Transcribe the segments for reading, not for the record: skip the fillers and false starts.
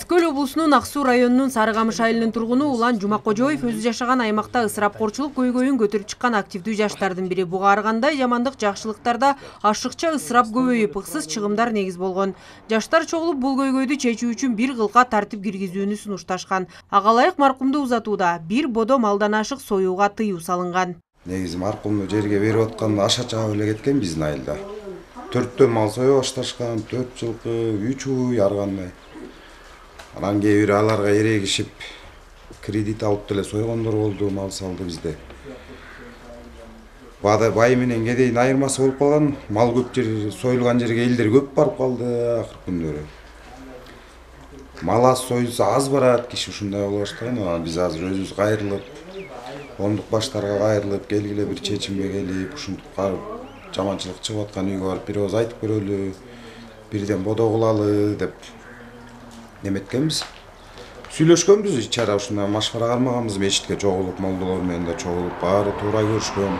Эски Көл облусунун Ак Суу районунун Сары Камыш айылынын тургуну Улан Жумакожоев өзү жашаган аймакта ысырапкорчулук көйгөйүн көтөрүп чыккан активдүү жаштардын бири. Буга ар кандай жамандык жакшылыктарда ашыкча ысырап көбөйүп, ыксыз чыгымдар негиз болгон. Жаштар чогулуп бул көйгөйдү чечүү үчүн бир кылка тартип киргизүүнү сунушташкан. Ага ылайык маркумду узатууда бир бодо малдан ашык союуга тыюу салынган. Негизи маркумду жерге берип атканда аша чаап эле кеткен биздин айылда. 4 мал сое башташкан, 4 жылкы, 3 уй ар кандай. Анан кээ бири аларга эрегишип кредит алып деле сойгондор болду, мал салды бизде. Бай менен кедейдин айырмасы болуп калган. Мал көп жер союлган жерге элдер көп барып калды акыркы күндөрү. Мал аз союлса аз барат, киши ушундай боло баштаган. Анан биз азыр өзүбүз кайрылып, коомдук баштарга кайрылып, келгиле бир чечимге келип, ушинтип жаманчылык чыгып аткан үйгө барып бир ооз айтып көрөлү, бирден бодо кылалы деп неметкенбиз. Сүйлөшкөнбүз, ичара ушундай машвара кармаганбыз, мечитке чогулуп, молдолор менен да чогулуп, баары туура көрүшкөн.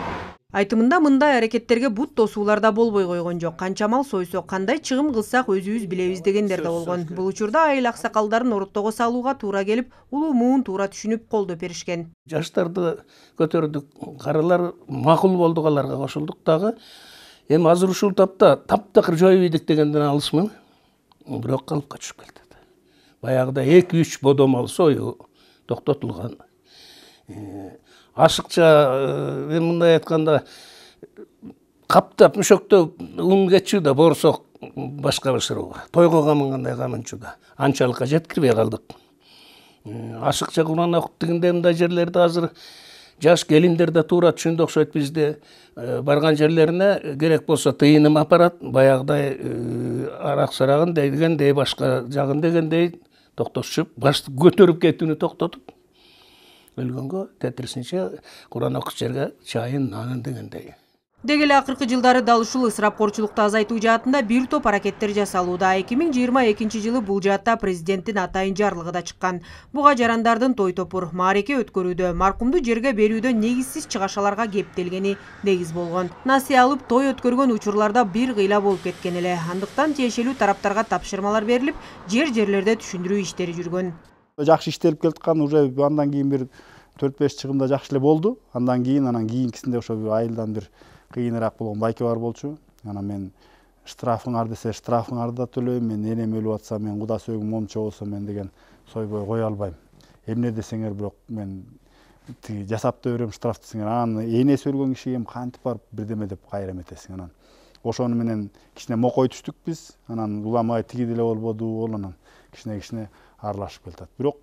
Айтымында мындай аракеттерге бут тосуулар да болбой койгон жок. Канча мал сойсок, кандай чыгым кылсак өзүбүз билебиз дегендер да болгон. Бул учурда айыл аксакалдарын ороттого салууга туура келип, улуу муун туура түшүнүп колдоп беришкен. Жаштарды көтөрдүк, карылар макул болдук, аларга кошулдук дагы. Эми азыр ушул тапта таптакыр жоюп ийдик дегенден алышмын. Бирок калыпка түшүп келди. Баягыда 2-3 бодо мал союу токтотулган. Ашыкча мен мындай айтканда каптап мөшөктөп ун кетчү да борсок башка бышырууга. Тойго камынгандай камынчу да. Анчалыкка жеткирбей калдык. Ашыкча Куран окуп дегенде мындай жерлерде азыр жаш келиндер да туура түшүндү окшойт. Бизде барган жерлерине керек болсо тыйыным апарат. Баягыдай арак-сарагын дегендей, башка жагын дегендей токтотушуп, башты көтөрүп кетүүнү токтотуп, өлгөнгө тетирисинче Куран окуш жерге чайын, нанын дегендей. Деги эле акыркы жылдары дал ушул ысырапкорчулукту азайтуу жаатында бир топ аракеттер жасалууда. 2022 жылы бул жаатта президенттин атайын жарлыгы да чыккан. Буга жарандардын той топур, маареке өткөрүүдө, маркумду жерге берүүдө негизсиз чыгашаларга кептелгени негиз болгон. Насыя алып той өткөргөн учурларда бир кыйла болуп кеткен эле. Андыктан тиешелүү тараптарга тапшырмалар берилип, жерлерде түшүндүрүү иштери жүргөн. Жакшы иштелип келаткан, уже андан кийин бир 4-5 чыгымда жакшы эле болду. Андан кийинкисинде ошо бир айылдан бир кыйыныраак болгон байке бар болчу. Анан мен штрафыңар десе штрафыңарды да төлөйм, мен энем өлүп атса, мен куда сөөгүм момчо болсо мен деген сойбой кое албайм. Эмне десеңер, бирок мен тиги жасап да берем штраф десеңер, анан энеси өлгөн кишиге кантип барып бирдеме деп кайра эметесиң. Анан ошону менен кичине мокой түштүк биз. Анан уламай тиги деле болбоду, ол анан кичине аралашып келатат. Бирок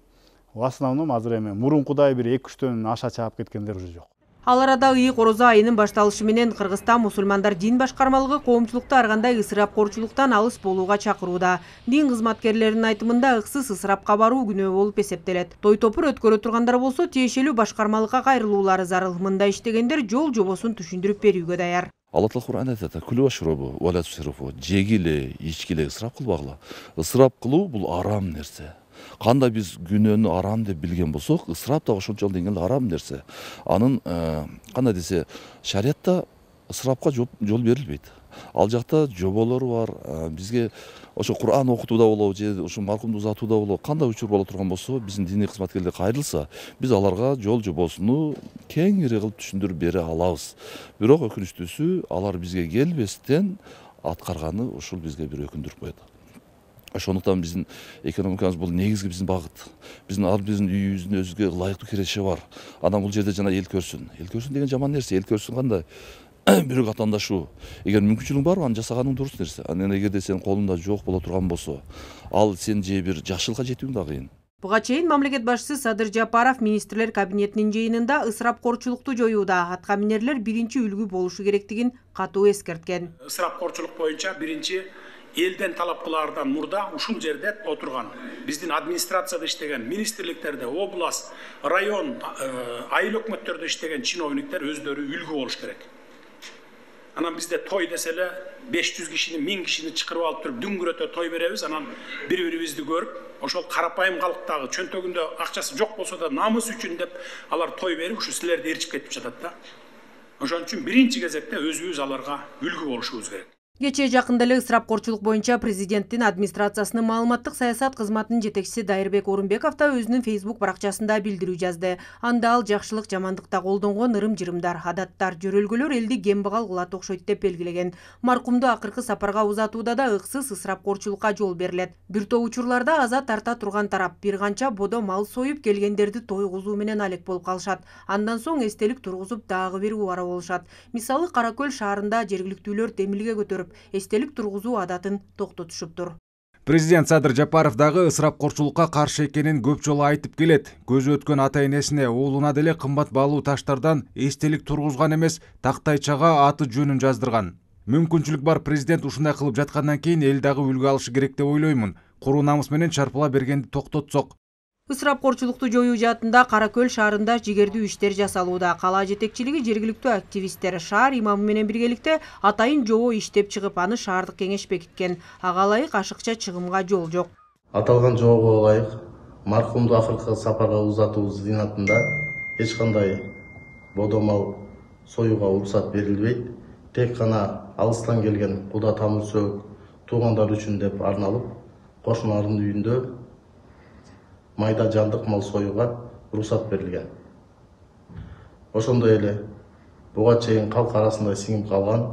в основном азыр эми мурункудай бир 2-3төн аша чаап кеткендер уже жок. Ал арада ыйык орозо айынын башталышы менен Кыргызстан мусулмандар дин башкармалыгы коомчулукту ар кандай ысырапкорчулуктан алыс болууга чакырууда. Дин кызматкерлеринин айтымында ыксыз ысырапка баруу күнөө болуп эсептелет. Той топур өткөрө тургандар болсо тиешелүү башкармалыкка кайрылуулары зарыл. Мындай иштегендер жол жобосун түшүндүрүп берүүгө даяр. Алла Таала Кур'анда айтат: "Күлү вашробу, вала тусрифу", жегиле, ичкиле, ысырап кылбагыла. Ысырап кылуу бул арам нерсе. Кандай биз күнөөнү арам деп билген болсок, ысырап да ошончол деңгээлде арам нерсе. Анын кандай десе, шариатта ысырапка жол берилбейт. Ал жакта жоболор бар. Бизге ошо Кур'ан окутууда болобу, же ошо маркумду узатууда болобу, кандай учур боло турган болсо, биздин диний кызматкерлер кайрылса, биз аларга жол жобосуну кеңири кылып түшүндүрүп бере алабыз. Бирок өкүнүчтүүсү, алар бизге келбестен аткарганы ушул бизге бир өкүндүрүп коет. Ошондуктан биздин экономикабыз бул негизги биздин багыт. Биздин үйүбүздүн өзүгө ылайыктуу киреши бар. Анан бул жерде жана эл көрсүн. Эл көрсүн деген жаман нерсе. Эл көрсүн кандай? Бирок атаандашу. Эгер мүмкүнчүлүгүң бар, аны жасаганың дурус нерсе. Анан эгерде сенин колуңда жок боло турган болсо, ал сен же бир жакшылыкка жетүүң да кыйын. Буга чейин мамлекет башчысы Садыр Жапаров министрлер кабинетинин жыйынында ысырапкорчулукту жоюуда атка минерлер биринчи үлгү болушу керектигин катуу эскерткен. Ысырапкорчулук боюнча биринчи элден талап кылаардан мурда ушул жерде отурган биздин администрацияда иштеген, министрликтерде, область, район, айыл өкмөттөрдө иштеген чиновниктер өздөрү үлгү болуш керек. Анан бизде той десе эле 500 кишини, 1000 кишини чакырып алып туруп дүңгүрөтө той беребиз. Анан бири-бирибизди көрүп, ошол карапайым калктагы чөнтөгүндө акчасы жок болсо да намыс үчүн деп алар той берип, ушу силерди ээрчип кетип жатат да. Ошон үчүн биринчи кезекте өзүбүз аларга үлгү болушубуз керек. Кечээ жакында эле ысырапкорчулук боюнча президенттин администрациясынын маалыматтык саясат кызматынын жетекчиси Дайырбек Орунбеков да өзүнүн Facebook баракчасында билдирүү жазды. Анда ал жакшылык жамандыкта колдонгон ырым-жырымдар, адаттар, жөрөлгөлөр элди кембагал кылат окшойт деп белгилеген. Маркумду акыркы сапарга узатууда да ыксыз ысырапкорчулукка жол берилет. Бир топ учурларда аза тарта турган тарап бир канча бодо мал союп келгендерди тойгузуу менен алек болуп калышат. Андан соң эстелик тургузуп дагы бир убара болушат. Мисалы Каракөл шаарында жергиликтүүлөр демилге көтөрүп эстелик тургузуу адатын токтотушуптур. Президент Садыр Жапаров дагы ысырапкорчулукка каршы экенин көп жолу айтып келет. Көзү өткөн ата-энесине, уулуна деле кымбат баалуу таштардан эстелик тургузган эмес, тактайчага аты жөнүн жаздырган. Мүмкүнчүлүк бар президент ушундай кылып жаткандан кийин эл дагы үлгү алышы керек деп ойлоймун. Куру намыс менен чарпыла бергенди токтотсок. Ысырапкорчулукту жоюу жаатында Каракөл шаарында жигердүү иштер жасалууда. Кала жетекчилиги, жергиликтүү активисттер шаар имамы менен биргеликте атайын жобо иштеп чыгып, аны шаардык кеңеш бекиткен. Ага ылайык ашыкча чыгымга жол жок. Аталган жобого ылайык маркумду акыркы сапарга узатуу зыйнатында эч кандай бодомал союуга уруксат берилбейт. Тек гана алыстан келген куда тамыр сөөк туугандар үчүн деп арналып, кошуналардын үйүндө майда жандык мал союуга уруксат берилген. Ошондой эле буга чейин калк арасында сиңип калган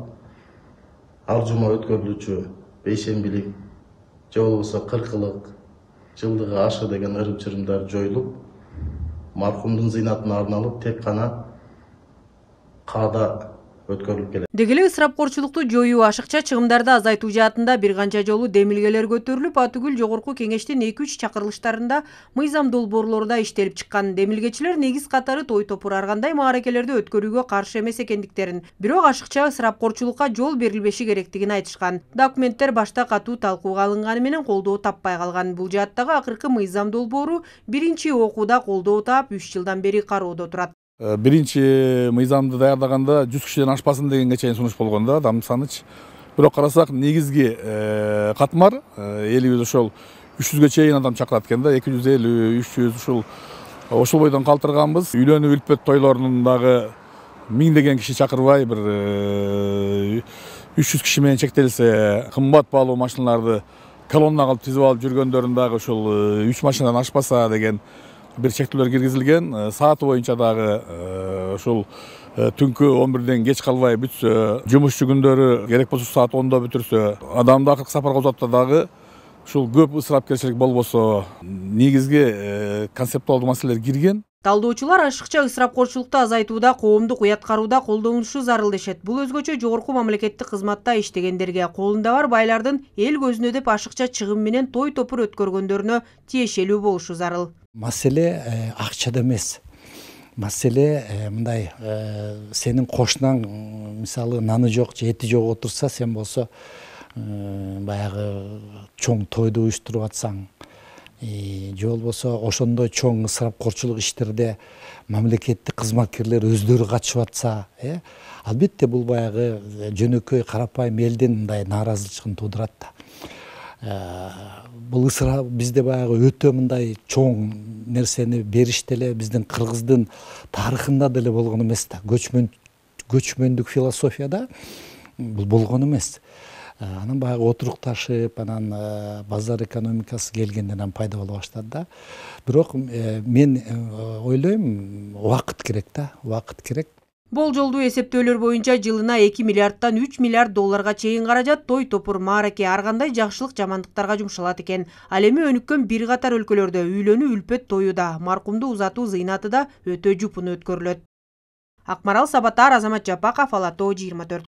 ар жума өткөрүлүүчү бейшембилик же болбосо кыркылык, жылдыгы ашы деген ырым-чырымдар жоюлуп, маркумдун зыйнатына арналып тек гана каада өткөрүлүп келет. Деги эле ысырапкорчулукту жоюу, ашыкча чыгымдарды азайтуу жаатында бир канча жолу демилгелер көтөрүлүп, атүгүл жогорку кеңештин 2-3 чакырылыштарында мыйзам долбоорлору иштелип чыккан. Демилгечилер негиз катары той топур ар кандай мааракелерди өткөрүүгө каршы эмес экендиктерин, бирок ашыкча ысырапкорчулукка жол берилбеши керектигин айтышкан. Документтер башта катуу талкууга алынганы менен колдоо таппай калган. Бул жааттагы акыркы мыйзам долбоору биринчи окууда колдоо таап 3 жылдан бери кароодо турат. Биринчи мыйзамды даярдаганда 100 кишиден ашпасын дегенге чейин сунуш болгон да, адам саныч. Бирок карасак негизги катмар элибиз ошол 300ге чейин адам чакырат экен да, 250, 300 ошол бойдон калтырганбыз. Үйлөнүү үлпөт тойлорунун дагы 1000 деген киши чакырбай, бир 300 киши менен чектелсе, кымбат баалуу машиналарды колонна кылып тизип алып жүргөндөрүн дагы ошол 3 машинадан ашпаса деген бир чектөөлөр киргизилген. Сааты боюнча дагы ошол түнкү 11ден кеч калбай бүтсө, жумушчу күндөрү керек болсо саат 10до бүтүрсө, адамды акыркы сапарга узатта дагы ушул көп ысырапкерчилик болбосо, негизги концептуалдуу маселелер кирген. Талдоочулар ашыкча ысырапкорчулукту азайтууда коомдук уяткарууда колдонулушу зарыл дешет. Бул өзгөчө жогорку мамлекеттик кызматта иштегендерге, колунда бар байлардын эл көзүнө деп ашыкча чыгым менен той топур өткөргөндөрүнө тиешелүү болушу зарыл. Маселе акчада эмес. Маселе мындай, сенин кошунаң мисалы наны жок же эти жок отурса, сен болсо баягы чоң тойду уюштуруп атсаң, же болбосо ошондой чоң ысырапкорчулук иштерде мамлекеттик кызматкерлер өздөрү катышып атса, албетте бул баягы жөнөкөй карапайым элдин мындай нааразычылыгын туудурат да. Бул ысырап бизде баягы өтө мындай чоң нерсени бериш деле биздин кыргыздын тарыхында деле болгон эмес да. Көчмөндүк философияда бул болгон эмес. Анан баягы отурукташып, анан базар экономикасы келгенден пайда боло баштады да. Бирок мен ойлойм, убакыт керек да, убакыт керек. Болжолдуу эсептөөлөр боюнча жылына 2 миллиардтан 3 миллиард долларга чейин каражат той топур, маараке, ар кандай жакшылык жамандыктарга жумшалат экен. Ал эми өнүккөн бир катар өлкөлөрдө үйлөнүү үлпөт тою да, маркумду узатуу зыйнаты да өтө жупун өткөрүлөт. Акмарал Сабатар, Азамат Жапаков, Ала Тоо 24.